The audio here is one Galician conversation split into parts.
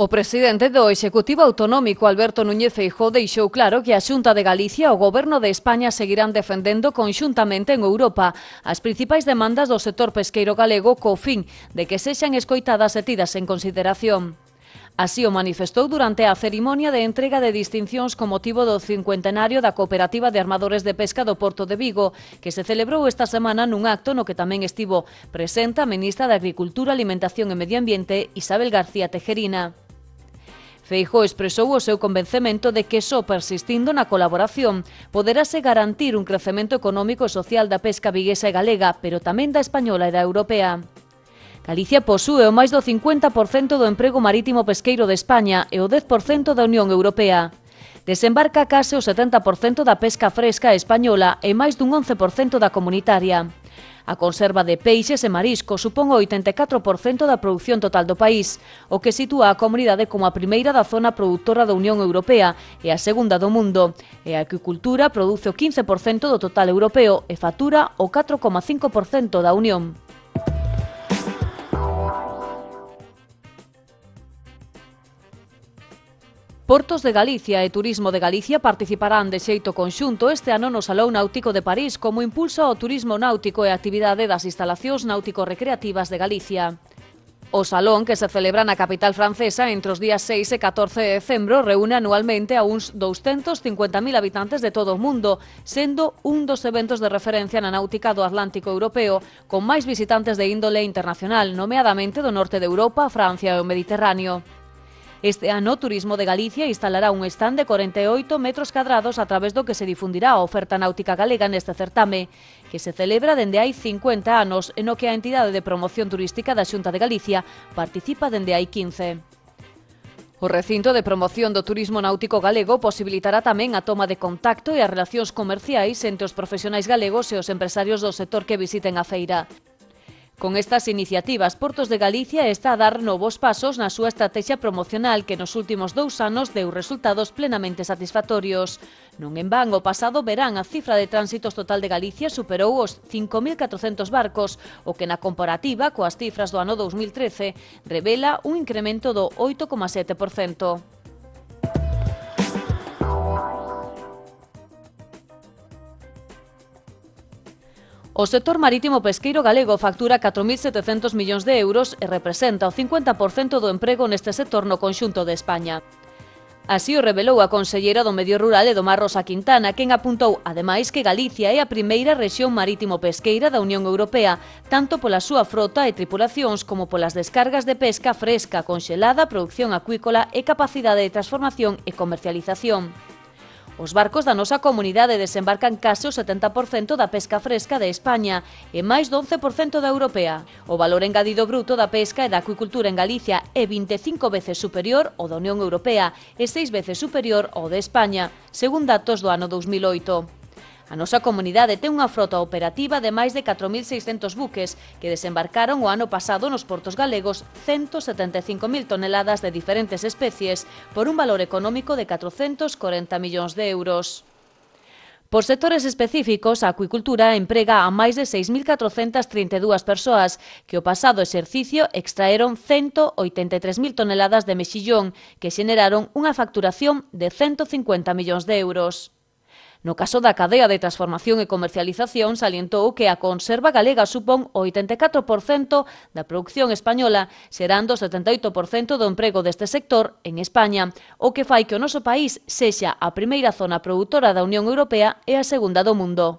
O presidente do Executivo Autonómico, Alberto Núñez Feijóo, deixou claro que a Xunta de Galicia e o Goberno de España seguirán defendendo conxuntamente en Europa as principais demandas do sector pesqueiro galego co fin de que sexan escoitadas e tidas en consideración. Así o manifestou durante a cerimonia de entrega de distincións con motivo do 50enario da Cooperativa de Armadores de Pesca do Porto de Vigo, que se celebrou esta semana nun acto no que tamén estivo presente a ministra de Agricultura, Alimentación e Medio Ambiente, Isabel García Tejerina. Feijóo expresou o seu convencemento de que só persistindo na colaboración poderase garantir un crecemento económico e social da pesca viguesa e galega, pero tamén da española e da europea. Galicia posúe o máis do 50% do emprego marítimo pesqueiro de España e o 10% da Unión Europea. Desembarca case o 70% da pesca fresca española e máis dun 11% da comunitaria. A conserva de peixes e marisco supón o 84% da produción total do país, o que sitúa a comunidade como a primeira da zona produtora da Unión Europea e a segunda do mundo, e a acuicultura produce o 15% do total europeo e fatura o 4,5% da Unión. Portos de Galicia e Turismo de Galicia participarán de xeito conxunto este ano no Salón Náutico de París como impulso ao turismo náutico e a actividade das instalacións náutico-recreativas de Galicia. O Salón, que se celebra na capital francesa entre os días 6 e 14 de decembro, reúne anualmente a uns 250.000 habitantes de todo o mundo, sendo un dos eventos de referencia na náutica do Atlántico Europeo, con máis visitantes de índole internacional, nomeadamente do norte de Europa, Francia e o Mediterráneo. Este ano, Turismo de Galicia instalará un stand de 48 metros cadrados a través do que se difundirá a oferta náutica galega neste certame, que se celebra dende hai 50 anos e no que a entidade de promoción turística da Xunta de Galicia participa dende hai 15. O recinto de promoción do turismo náutico galego posibilitará tamén a toma de contacto e as relacións comerciais entre os profesionais galegos e os empresarios do sector que visiten a feira. Con estas iniciativas, Portos de Galicia está a dar novos pasos na súa estrategia promocional que nos últimos 2 anos deu resultados plenamente satisfactorios. Non en van, o pasado verán a cifra de tránsitos total de Galicia superou os 5.400 barcos, o que na comparativa coas cifras do ano 2013 revela un incremento do 8,7%. O sector marítimo pesqueiro galego factura 4.700 millóns de euros e representa o 50% do emprego neste sector no conxunto de España. Así o revelou a conselleira do Medio Rural e do Mar, Rosa Quintana, quen apuntou, ademais, que Galicia é a primeira rexión marítimo pesqueira da Unión Europea, tanto pola súa frota e tripulacións como polas descargas de pesca fresca, conxelada, produción acuícola e capacidade de transformación e comercialización. Os barcos da nosa comunidade desembarcan case o 70% da pesca fresca de España e máis do 11% da europea. O valor engadido bruto da pesca e da acuicultura en Galicia é 25 veces superior ao da Unión Europea e 6 veces superior ao de España, según datos do ano 2008. A nosa comunidade ten unha frota operativa de máis de 4.600 buques que desembarcaron o ano pasado nos portos galegos 175.000 toneladas de diferentes especies por un valor económico de 440 millóns de euros. Por sectores específicos, a acuicultura emprega a máis de 6.432 persoas que o pasado exercicio extraeron 183.000 toneladas de mexillón que xeneraron unha facturación de 150 millóns de euros. No caso da cadea de transformación e comercialización, salientou que a conserva galega supón o 84% da produción española, xerando o 78% do emprego deste sector en España, o que fai que o noso país sexa a primeira zona produtora da Unión Europea e a segunda do mundo.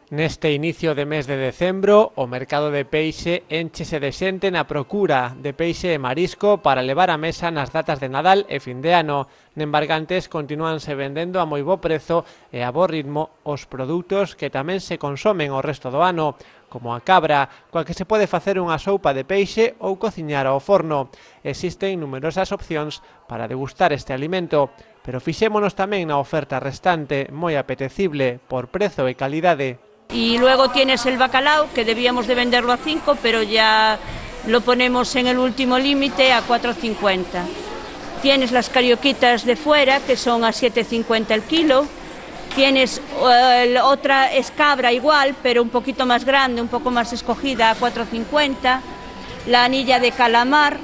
Neste inicio de mes de decembro, o mercado de peixe énchese de xente na procura de peixe e marisco para levar á mesa nas datas de Nadal e fin de ano. Nembargantes continúanse vendendo a moi bo prezo e a bo ritmo os produtos que tamén se consomen o resto do ano, como a cabra, coa que se pode facer unha soupa de peixe ou cociñar ao forno. Existen numerosas opcións para degustar este alimento, pero fixémonos tamén na oferta restante, moi apetecible por prezo e calidade. Y luego tienes el bacalao, que debíamos de venderlo a 5, pero ya lo ponemos en el último límite a 4,50. Tienes las carioquitas de fuera, que son a 7,50 el kilo, Tienes otra escabra igual, pero un poquito más grande, un poco más escogida, a 4,50. La anilla de calamar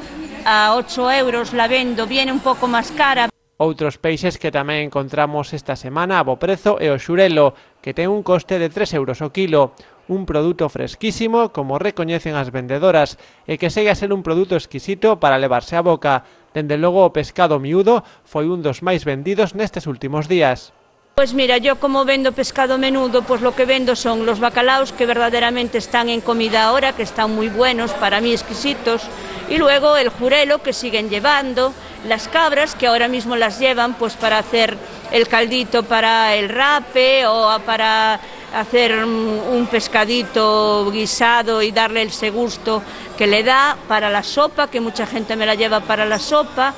a 8 euros la vendo, viene un pouco máis cara. Outros peixes que tamén encontramos esta semana a bo prezo é o xurelo, que ten un coste de 3 euros o quilo, un produto fresquísimo, como recoñecen as vendedoras, e que segue a ser un produto exquisito para levarse a boca. Dende logo o pescado miúdo foi un dos máis vendidos nestes últimos días. Pues mira, yo como vendo pescado menudo, pues lo que vendo son los bacalaos que verdaderamente están en comida ahora, que están muy buenos, para mí exquisitos, y luego el jurelo que siguen llevando, las cabras que ahora mismo las llevan pues para hacer el caldito para el rape o para hacer un pescadito guisado y darle ese gusto que le da, para la sopa, que mucha gente me la lleva para la sopa.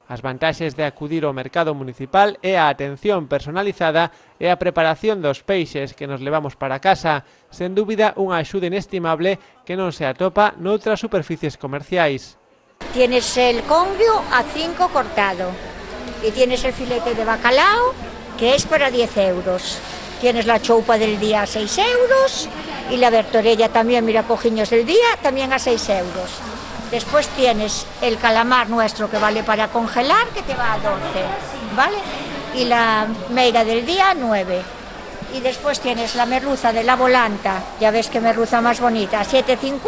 As vantaxes de acudir ao mercado municipal é a atención personalizada e a preparación dos peixes que nos levamos para casa, sen dúbida unha axuda inestimable que non se atopa noutras superficies comerciais. Tienes el congrio a 5 cortado y tienes el filete de bacalao que es para 10 euros. Tienes la choupa del día a 6 euros y la bertorella también, mira, cojiños del día, también a 6 euros. Después tienes el calamar nuestro que vale para congelar, que te va a 12, ¿vale? Y la meira del día a 9. Y después tienes la merluza de la volanta, ya ves qué merluza más bonita, a 7,50.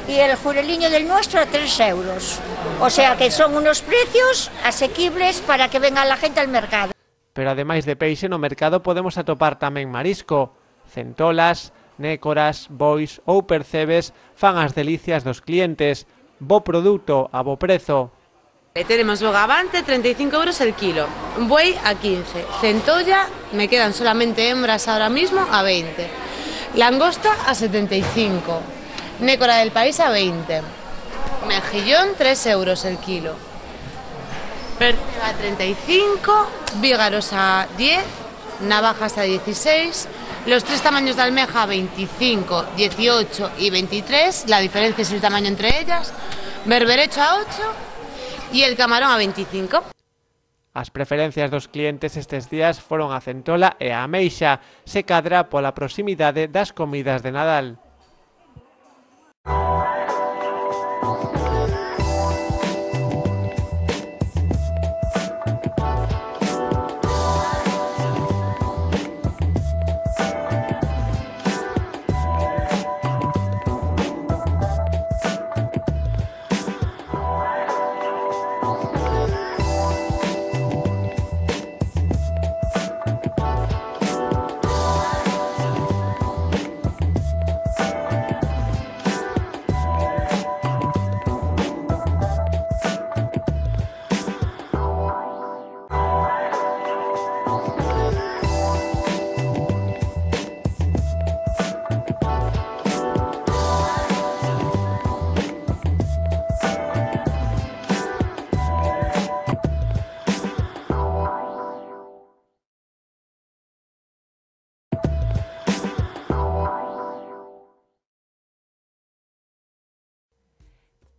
Y el jureliño del nuestro a 3 euros. O sea que son unos precios asequibles para que venga la gente al mercado. Pero ademais de peixe no mercado podemos atopar tamén marisco, centolas, nécoras, bois ou percebes fan as delicias dos clientes. Bo produto a bo prezo. Tenemos bogavante 35 euros el kilo, buey a 15, centolla, me quedan solamente hembras ahora mismo a 20, langosta a 75, nécora del país a 20, mejillón 3 euros el kilo, percebe a 35, vígaros a 10, navajas a 16, los 3 tamaños de almeja 25, 18 y 23, la diferencia es el tamaño entre ellas, berberecho a 8 y el camarón a 25. As preferencias dos clientes estes días foron a centola e a ameixa, se cadra pola proximidade das comidas de Nadal.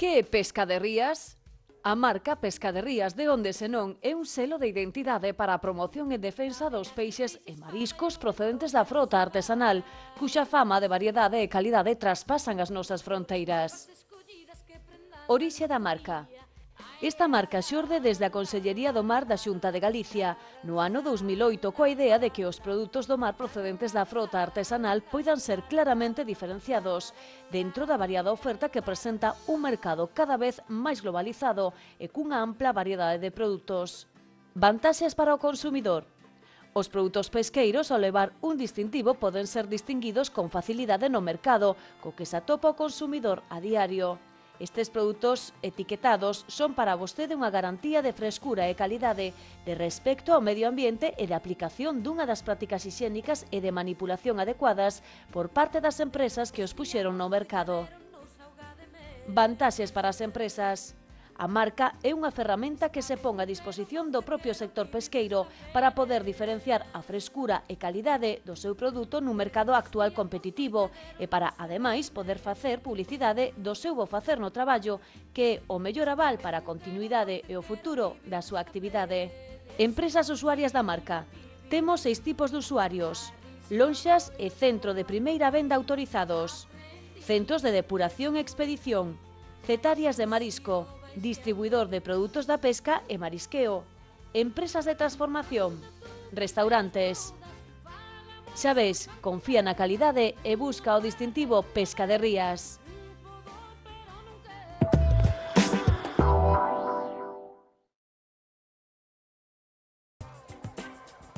Que é Pescaderías? A marca Pescaderías de onde senón é un selo de identidade para a promoción e defensa dos peixes e mariscos procedentes da frota artesanal, cuxa fama de variedade e calidade traspasan as nosas fronteiras. Orixe da marca. Esta marca xorde desde a Consellería do Mar da Xunta de Galicia no ano 2008 coa idea de que os produtos do mar procedentes da frota artesanal poidan ser claramente diferenciados dentro da variada oferta que presenta un mercado cada vez máis globalizado e cunha ampla variedade de produtos. Vantaxes para o consumidor. Os produtos pesqueiros, ao levar un distintivo, poden ser distinguidos con facilidade no mercado, co que se atopa o consumidor a diario. Estes produtos etiquetados son para vostede unha garantía de frescura e calidade, de respecto ao medio ambiente e de aplicación dunha das prácticas hixiénicas e de manipulación adecuadas por parte das empresas que os puxeron no mercado. Vantaxes para as empresas. A marca é unha ferramenta que se pon a disposición do propio sector pesqueiro para poder diferenciar a frescura e calidade do seu produto nun mercado actual competitivo e para, ademais, poder facer publicidade do seu bo facer no traballo, que é o mellor aval para a continuidade e o futuro da súa actividade. Empresas usuarias da marca. Temos 6 tipos de usuarios. Lonxas e centro de primeira venda autorizados. Centros de depuración e expedición. Cetarias de marisco. Distribuidor de produtos da pesca e marisqueo. Empresas de transformación. Restaurantes. Xa ves, confía na calidade e busca o distintivo Pesca de Rías.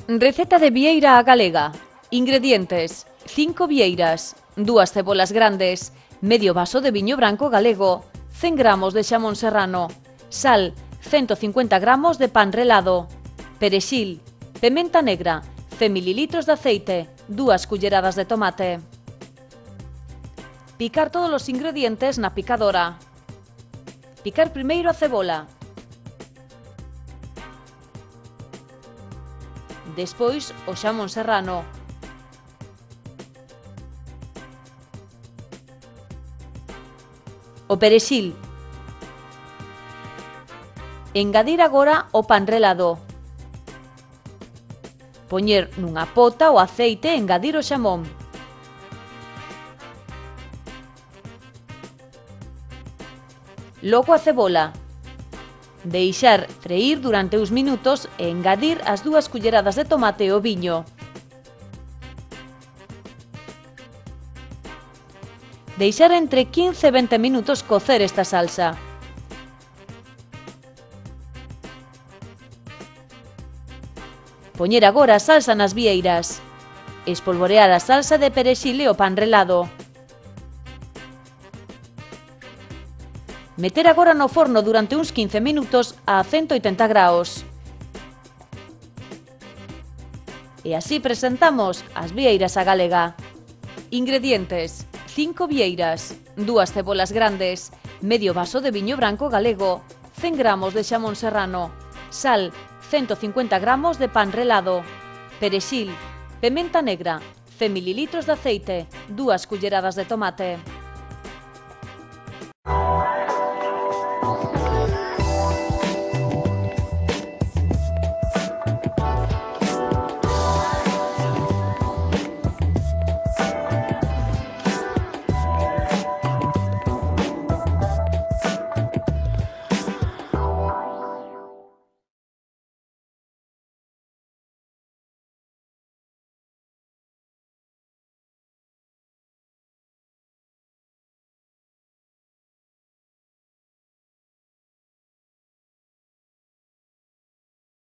Receta de vieira á galega. Ingredientes: 5 vieiras, 2 cebolas grandes, medio vaso de viño branco galego, 100 gramos de xamón serrano, sal, 150 gramos de pan relado, perexil, pementa negra, 100 ml de aceite, 2 culleradas de tomate. Picar todos os ingredientes na picadora. Picar primeiro a cebola. Despois o xamón serrano. O perexil. Engadir agora o pan relado. Poñer nunha pota o aceite e engadir o xamón. Logo a cebola. Deixar freír durante uns minutos e engadir as 2 culleradas de tomate e o viño. Deixar entre 15 e 20 minutos cocer esta salsa. Poñer agora a salsa nas vieiras. Espolvorear a salsa de perexil e o pan relado. Meter agora no forno durante uns 15 minutos a 180 graos. E así presentamos as vieiras á galega. Ingredientes: 5 vieiras, 2 cebolas grandes, medio vaso de viño branco galego, 100 gramos de xamón serrano, sal, 150 gramos de pan relado, perexil, pementa negra, 100 ml de aceite, 2 culleradas de tomate.